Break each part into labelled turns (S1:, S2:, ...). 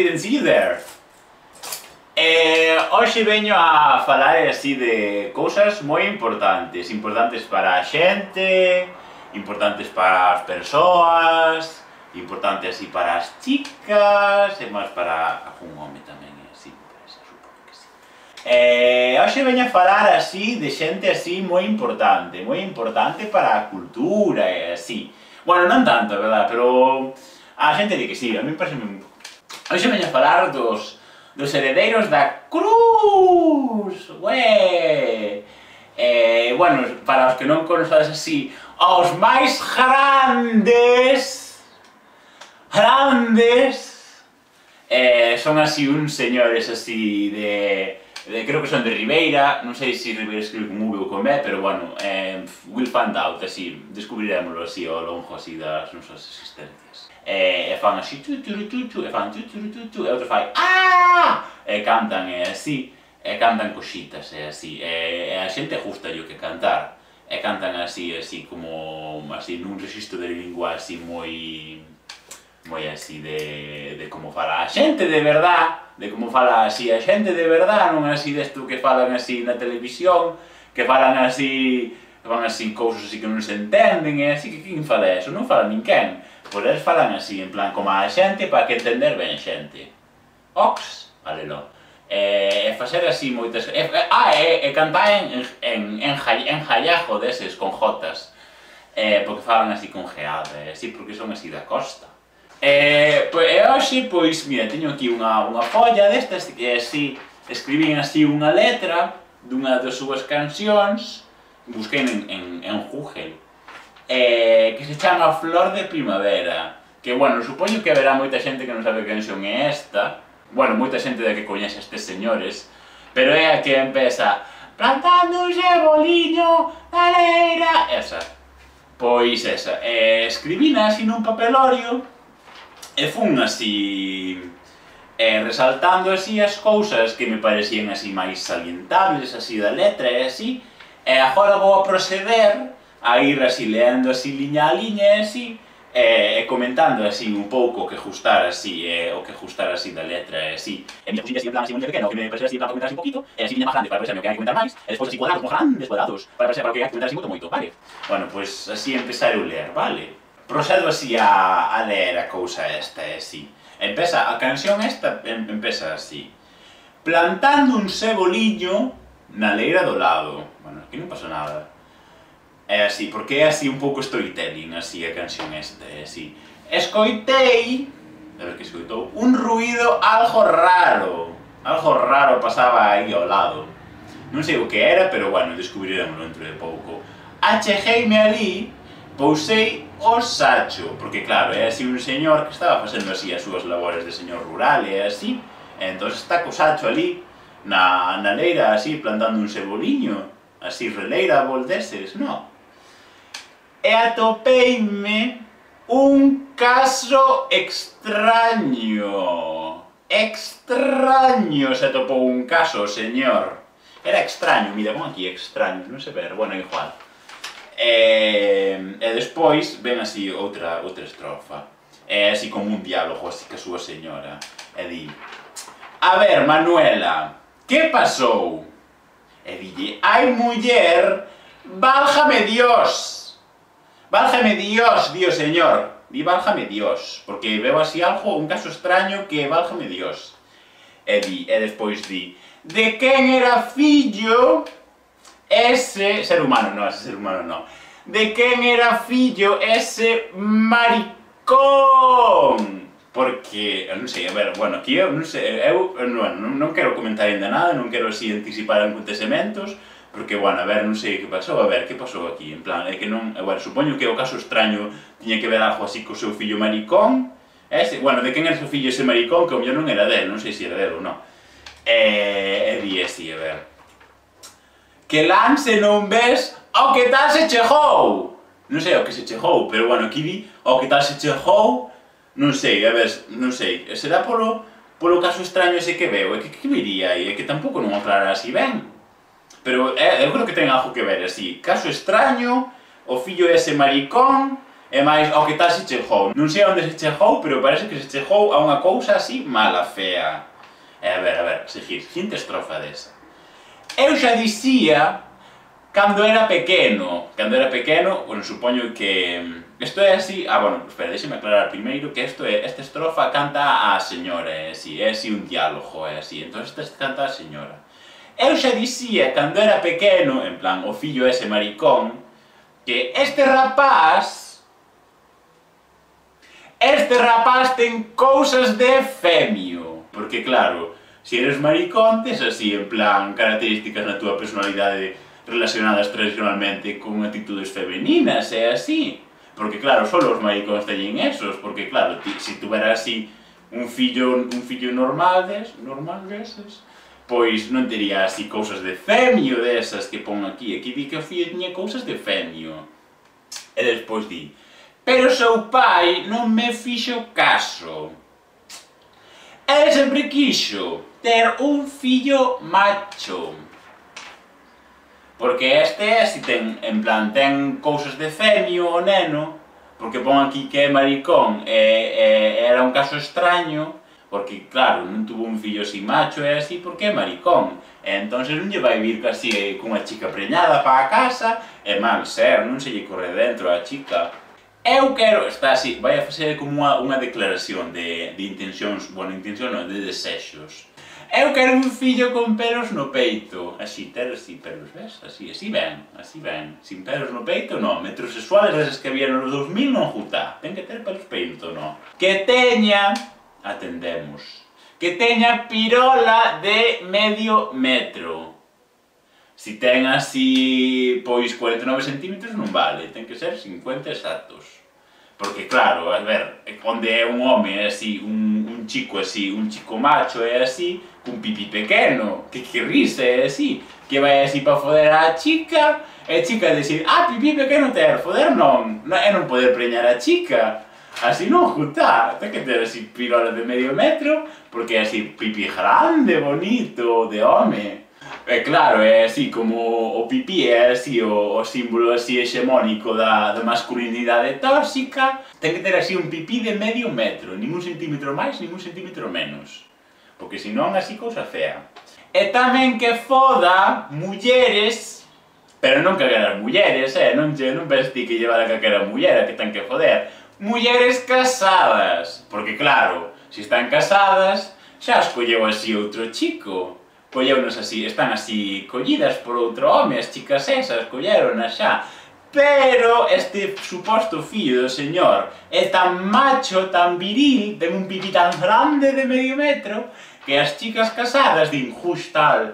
S1: didn't see you there. Hoxe veño a falar así de cousas moi importantes. Importantes para a xente, importantes para as persoas, importantes así para as chicas, e máis para algún home tamén, así, supoño que sí. Hoxe veño a falar así de xente así moi importante para a cultura e así. Bueno, non tanto, verdad, pero a xente di que sí, a mí parece un pouco. Hoxe veño a falar dos heredeiros da Cruz, ué! Bueno, para os que non conocedes así, os máis grandes, son así uns señores así creo que son de Ribeira, non sei se Ribeira escribe con V ou con B, pero bueno, we'll find out, así, descubrirémoslo así ao longo así das nosas existencias. E fan así, e fan e outro fai, aaaa! E cantan, e así, e cantan cositas, e así, e a xente gusta yo que cantar, e cantan así, como, así, nun registro de lingua así moi así de como fala a xente de verdad, de como fala así a xente de verdad, non así desto que falan así na televisión, que falan así, que van así cousas así que non se entenden, e así que quen fala eso? Non fala ninguén. Pois eles falan así, en plan, como a xente, para que entender ben xente. Ox, valelo. E facer así moitas... E cantar en jallajo deses, con jotas. Porque falan así con geada, así, porque son así da costa. E hoxe, pois, mira, teño aquí unha folla destas que así, escribín así unha letra dunha das súas cancións, busquei en Google, que se chama Flor de Primavera, que, bueno, supoño que haberá moita xente que non sabe que canción é esta, bueno, moita xente da que coñece estes señores, pero é a que empeza plantando un ceboliño na leira, esa. Pois esa, escribina así nun papelorio, e fun así resaltando así as cousas que me parecían así máis salientables así da letra e así, e agora vou a proceder a ir así leendo así liña a liña e así, e comentando así un pouco o que gustar así, o que gustar así da letra e así. E mira, pusille así en plan así moi pequeno, que me parecía así en plan para comentar así un poquito, e así liña máis grande para parecerme o que hai que comentar máis, e despois así cuadrados, como grandes cuadrados, para parecer para o que hai que comentar así moito, vale? Bueno, pois así empezar eu ler, vale? Procedo así a ler a cousa esta, e así. Empeza, a canción esta empeza así. Plantando un ceboliño na leira do lado. Bueno, aquí non pasa nada. É así, porque é así un pouco storytelling, así a canción esta, é así. Escoitei, a ver que escoitou, un ruído algo raro. Algo raro pasaba aí ao lado. Non sei o que era, pero bueno, descubriremos dentro de pouco. Achegueime ali, pousei o sacho, porque claro, é así un señor que estaba facendo así as súas labores de señor rural e así, e entón está co sacho ali, na leira así, plantando un ceboliño, así releira voldeses, no? E atopeime un caso extraño. Extraño se atopou un caso, señor. Era extraño, mira, pon aquí extraño, non sei ver, bueno, igual. E despois ven así outra estrofa, é así como un diálogo así que a súa señora, e di: a ver, Manuela, que pasou? E dille: ai, muller, válgame Dios, di o señor, di válgame Dios, porque veo así algo, un caso extraño que válgame Dios. E despois di: de quen era fillo ese ser humano, no, de quen era fillo ese maricón? Porque, non sei, a ver, bueno, aquí eu non sei, non quero comentar ainda nada, non quero así anticipar acontecementos, porque, bueno, a ver, non sei que pasou, a ver, que pasou aquí, en plan, é que non, bueno, supoño que o caso extraño tiña que ver algo así co seu fillo maricón, bueno, de quen era o seu fillo ese maricón, que o mellor non era del, non sei se era del ou non, e di así, a ver, que lance non ves ao que tal se chegou. Non sei ao que se chegou, pero bueno, aquí di ao que tal se chegou, non sei, a ver, non sei, será polo caso extraño ese que veo, é que viría aí, é que tampouco non aclara así ben. Pero eu creo que ten algo que ver así, caso extraño, o fillo ese maricón, E máis, ao que tal se chegou. Non sei onde se chegou, pero parece que se chegou a unha cousa así mala, fea. E a ver, seguinte estrofa desa. Eu xa dicía cando era pequeno, bueno, supoño que... Isto é así... bueno, espera, deixeme aclarar primeiro que esta estrofa canta a señora, é así un diálogo, é así, entón esta canta a señora. Eu xa dicía cando era pequeno, en plan, o fillo ese maricón, que este rapaz ten cousas de femio. Porque claro, se eres maricón, tes así, en plan, características na túa personalidade relacionadas tradicionalmente con actitudes femeninas, é así. Porque claro, só os maricóns teñen esos, porque claro, se tuvera así un fillo normal deses, pois non tería así cousas de femio desas que pon aquí. Aquí di que o fillo tiña cousas de femio. E despois di, pero seu pai non me fixo caso. Ele sempre quixo ter un fillo macho. Porque si ten, en plan, ten cousas de femio o neno, porque pon aquí que é maricón, era un caso extraño, porque claro, non tuvo un fillo así macho e así porque é maricón. E entón non lle vai vir casi cunha chica preñada para a casa, e mal ser, non se lle corre dentro a chica. Eu quero, está así, vai a facer como unha declaración de intencións, bueno, intención non, de desexos. Eu quero un fillo con pelos no peito, así, ter así pelos, ves? Así ben. Sin pelos no peito, non, metrosexuales desas que había nos 2000 non jutá, ten que ter pelos peito, non. Que teña, atendemos, que teña pirola de medio metro. Si ten así, pois 49 centímetros non vale, ten que ser 50 exactos. Porque claro, a ver, onde é un home é así, un chico así, un chico macho é así, cun pipí pequeno, que risa é así, que vai así para foder á chica, e a chica decir, pipí pequeno ter, foder non, e non poder preñar a chica. Así non jutá, ten que ter así pirola de medio metro, porque é así pipí grande, bonito, de home. E claro, é así como o pipí é así o símbolo así hexemónico da masculinidade tóxica, ten que ter así un pipí de medio metro, nin un centímetro máis, nin un centímetro menos. Porque senón así cousa fea. E tamén que foda mulleres, pero non calqueras mulleres, non penses ti que llevar a calquera muller, que ten que foder. Mulleres casadas, porque claro, se están casadas, xa as colleu así outro chico. Colleunos así, están así collidas por outro home, as chicas esas, colleronas xa. Pero este suposto fillo do señor é tan macho, tan viril, ten un pipí tan grande de medio metro, que as chicas casadas din, justa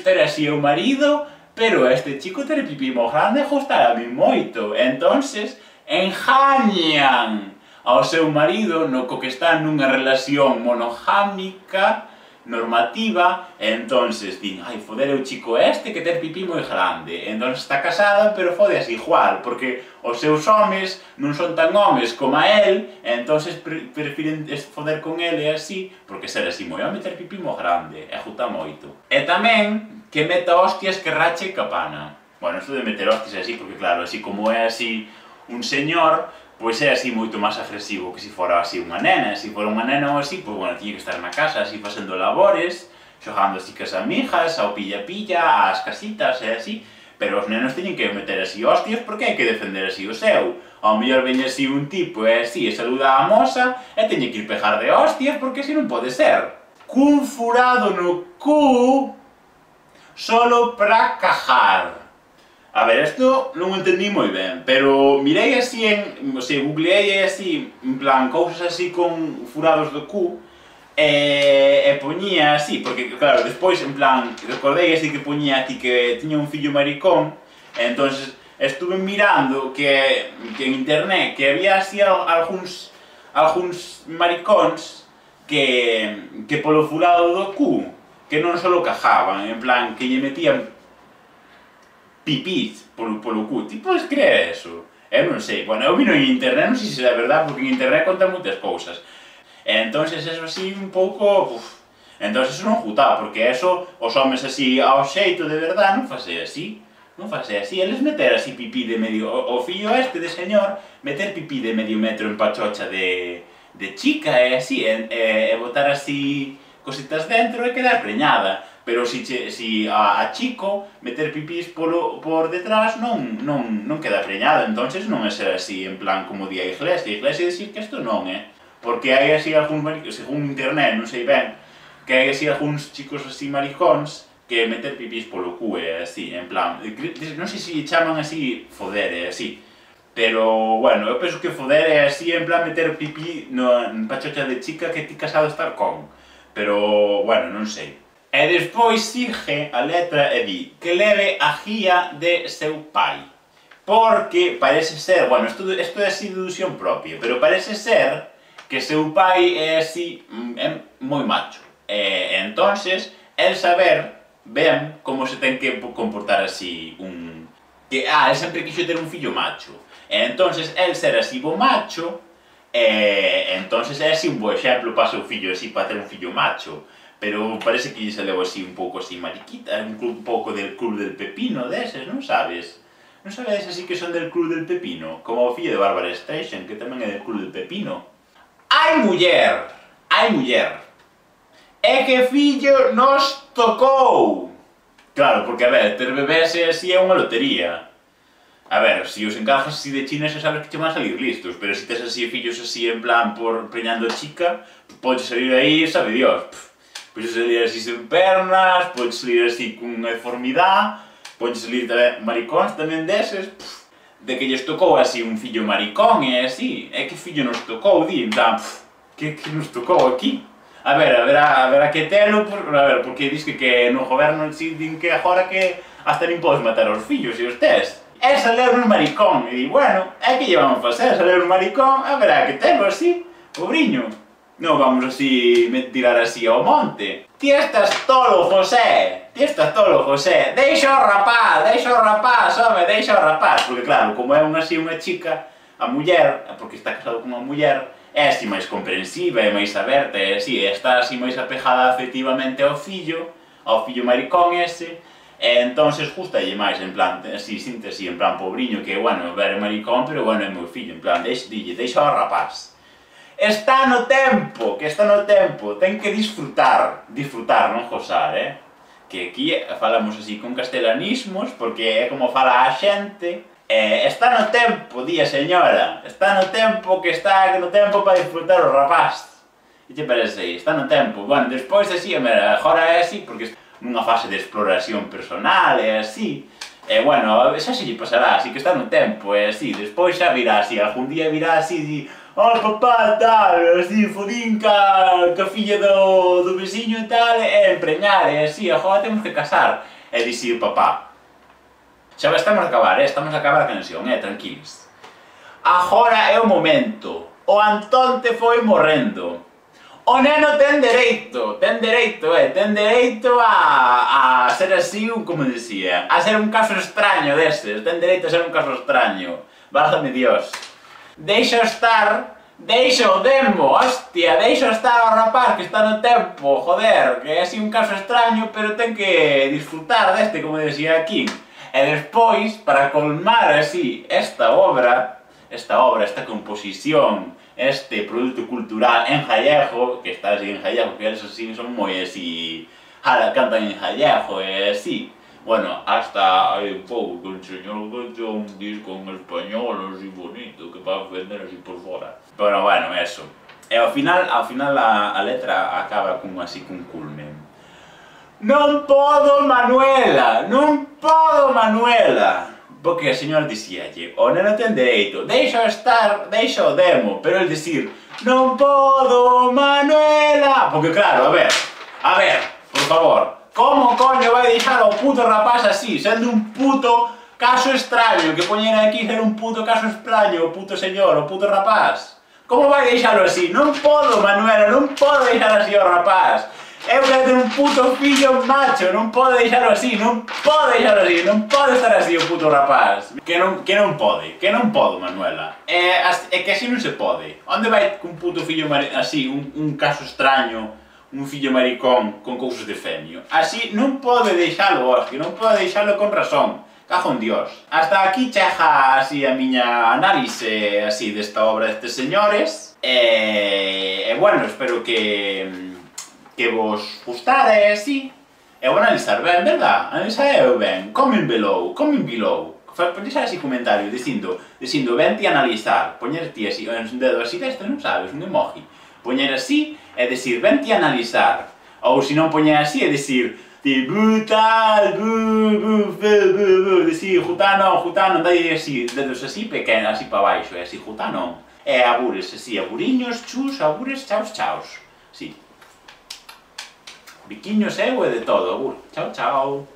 S1: era así o marido, pero este chico ten pipí moi grande, justa a mí moito. Entonces, engañan ao seu marido no co que está nunha relación monogámica, normativa, e entonces din, foder o chico este que ten pipí moi grande, entón está casada, pero fodes igual, porque os seus homes non son tan homes como a él, e entonces prefiren foder con ele así, porque ser así moi home ter pipí moi grande, e juta moito. E tamén, que meta hostias que rache capana. Bueno, isto de meter hostias así, porque claro, así como é así un señor, pois é así moito máis agresivo que se fora así unha nena. Se fora unha nena ou así, pois bueno, tiña que estar na casa así facendo labores, xogando así cas amigas, ao pilla-pilla, ás casitas e así, pero os nenos teñen que meter así hostias porque hai que defender así o seu. Ao mellor veñe así un tipo e así e saluda a moza e teñe que ir pejar de hostias porque así non pode ser. Cun furado no cu solo pra cajar. A ver, isto non o entendí moi ben, pero mirei así googleei así, en plan, cousas así con furados do cu, e poñía así, porque claro, despois, en plan, recordei así que poñía aquí que tiña un fillo maricón, e entonces estuve mirando que en internet que había así algúns maricóns que polo furado do cu, que non só cajaban, en plan, que lle metían pipís polo cu. Ti podes creer eso? Eu non sei. Bueno, eu vino en internet, non sei se é verdade, porque en internet contan moitas cousas. E entonces eso así un pouco... Entonces eso non jutá, porque eso, os homes así ao xeito de verdade non fase así. non fase así, eles meter así pipí de medio, o fillo este de señor, meter pipí de medio metro en pachocha de chica e así, e botar así cositas dentro e quedar preñada. Pero si a chico meter pipís por detrás non queda preñada, entonces non é ser así, en plan como di a Iglesia dicir que isto non é. Porque hai así algúns maricóns, según internet, non sei ben, que hai así algúns chicos así maricóns que meter pipís polo cu é así, en plan, non sei se chaman así foder e así, pero, bueno, eu penso que foder é así, en plan, meter pipí en pachocha de chica que ti casado estar con, pero, bueno, non sei. E despois sigue a letra e di que leve a guía de seu pai, porque parece ser, bueno, isto é así deducción propia, pero parece ser que seu pai é así, é moi macho, e entonces, el saber ben como se ten que comportar así el sempre quixo ter un fillo macho. E entonces, el ser así bo macho, entonces é así un bo exemplo para o seu fillo, así para ter un fillo macho. Pero parece que se levou así un pouco así mariquita, un pouco del club del pepino deses, non sabes? Non sabes así que son del club del pepino? Como o fillo de Barbara Streisand, que tamén é del club del pepino. Hai muller! Hai muller! É que fillo nos tocou! Claro, porque, a ver, ter bebés así é unha lotería. A ver, se os encajas así de China xa sabes que che van a salir listos, pero se tes así fillos así en plan por preñando chica, podes salir aí, sabe Dios. Podes salir así sen pernas, podes salir así cunha deformidade, podes salir tamén maricóns tamén deses, de que lles tocou así un fillo maricón e así, é que fillo nos tocou, di, en plan, que nos tocou aquí? A ver, haberá que telo, a ver, porque dis que no goberno din que agora que hasta nin podes matar os fillos e os tes. É saler un maricón, e di, bueno, é que llevamos a facer, saler un maricón, haberá que telo así, pobriño. Non vamos así tirar así ao monte. Ti estás tolo, José! Ti estás tolo, José! Deixa o rapaz, home, deixa o rapaz! Porque claro, como é así unha chica, a muller, porque está casado con unha muller, é así máis comprensiva, é máis aberta, é así, está así máis apegada afectivamente ao fillo maricón ese, e entonces gustalle máis, en plan, así, sinte así, en plan, pobriño, que, bueno, ver maricón, pero, bueno, é meu fillo, en plan, deixa o rapaz. Está no tempo, ten que disfrutar, non gozar, Que aquí falamos así con castelanismos, porque é como fala a xente. Está no tempo, di a señora, está no tempo que está no tempo para disfrutar o rapaz. E che parece aí, está no tempo. Bueno, despois así, agora é así, porque nunha fase de exploración personal, é así. E, bueno, xa se lle pasará, así que está no tempo, é así. Despois xa virá así, algún día virá así, di, oh, papá, tal, así, fodín ca filla do veciño e tal, e empreñar, e así, agora temos que casar. E dixir, papá, xa estamos a acabar a canción, tranquilos. Agora é o momento, o Antonte foi morrendo. O neno ten dereito a ser así, como decía, a ser un caso extraño destes, ten dereito a ser un caso extraño. Válgame Dios. Deixa o demo, hostia, deixa estar ao rapaz que está no tempo, joder, que é así un caso extraño, pero ten que disfrutar deste, como decía aquí. E despois, para colmar así esta obra, esta composición, este produto cultural en gallego, que está así en gallego, que eles así son moi así, cantan en gallego e así. Bueno, hasta hai un pouco que el señor Gocho un disco en español así bonito, que va a vender así por fora. Pero bueno, eso. E ao final a letra acaba así cun culmen. Non podo, Manuela! Porque a señora dicíalle, o neno ten dereito, deixa o demo, pero el dicir, non podo, Manuela! Porque claro, a ver, por favor, como coño vai deixar o puto rapaz así, sendo un puto caso extraño, que poñen aquí ser un puto caso extraño, o puto señor, o puto rapaz? Como vai deixalo así? Non podo, Manuela, non podo deixar así o rapaz! Eu quero ter un puto fillo macho, non podo deixalo así, non pode estar así o puto rapaz. Que non podo, Manuela. É que así non se pode. Onde vai un puto fillo así, un caso extraño, un fillo maricón con cousas de femio? Así non pode deixalo, Oski, non pode deixalo con razón. Cajo en Dios. Hasta aquí chega así a miña análise así desta obra destes señores. Bueno, espero que vos gustare así. E vou analizar ben, verdad? Analizar ben. Comment below. Deixar así comentario dicindo vente a analizar. Poñer ti así, un dedo así deste, non sabes, un emoji. Poñer así e decir vente a analizar. Ou se non poñer así e decir brutal, decir jutano, dai así, dedos así pequenos, así para baixo, e así jutano. E abures, así, aburiños, chus, abures, chaos. Sí. Biquiños eu e de todo, abur. Chao.